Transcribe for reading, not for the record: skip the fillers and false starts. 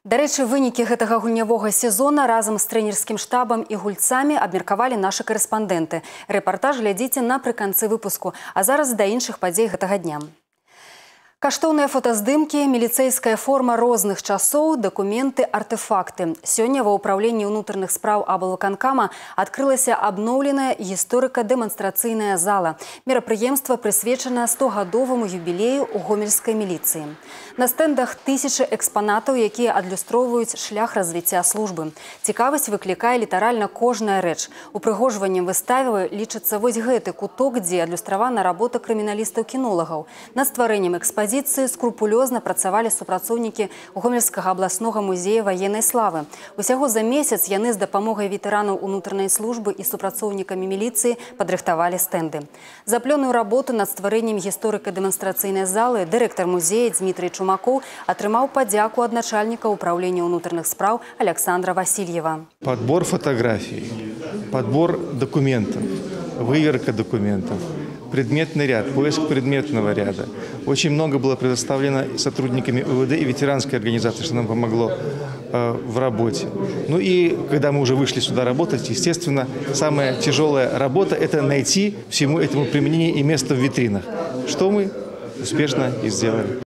Дарэчы, вынікі гэтага гульнявога сезона разам з трэнерскім штабам і гульцамі абмеркавалі нашы карэспандэнты. Рэпартаж глядзіце напрыканцы выпуску, а зараз да іншых падзей гэтага дня. Каштоўныя фотаздымкі, міліцэйская форма розных часоў, дакументы, артефакты. Сёння ва ўпраўленні ўнутраных спраў аблвыканкама адкрылася абноўленая гісторыка-дэманстрацыйная зала. Мерапрыемства прысвечана 100-гадоваму юбілею ў гомельскай міліцыі. На стэндах тысячы экспанатаў, якія адлюстроўваюць шлях развіцця службы. Цікавасць выклікае літаральна кожная рэч. Упрыгожваннем выставы лічыцца вось гэты куток, дзе адлюстравана работа крыміналістаў-кінолагаў. Над стварэннем экспазіцыі скрупулёзна працавалі супрацоўнікі Гомельскага абласнога музея ваеннай славы. Усяго за месяц яны з дапамогай ветэранаў унутранай службы і супрацоўнікамі міліцыі падрыхтавалі стэнды. За плённую работу над стварэннем гісторыка-дэманстрацыйнай залы дырэктар музея Дмітрый Чумакоў атрымаў падзяку ад начальніка ўпраўлення ўнутраных спраў Александра Васильева. Подбор фотографий, подбор документов, выверка документов, предметный ряд, поиск предметного ряда. Очень много было предоставлено сотрудниками УВД и ветеранской организации, что нам помогло в работе. Ну и когда мы уже вышли сюда работать, естественно, самая тяжелая работа – это найти всему этому применение и место в витринах, что мы успешно и сделали.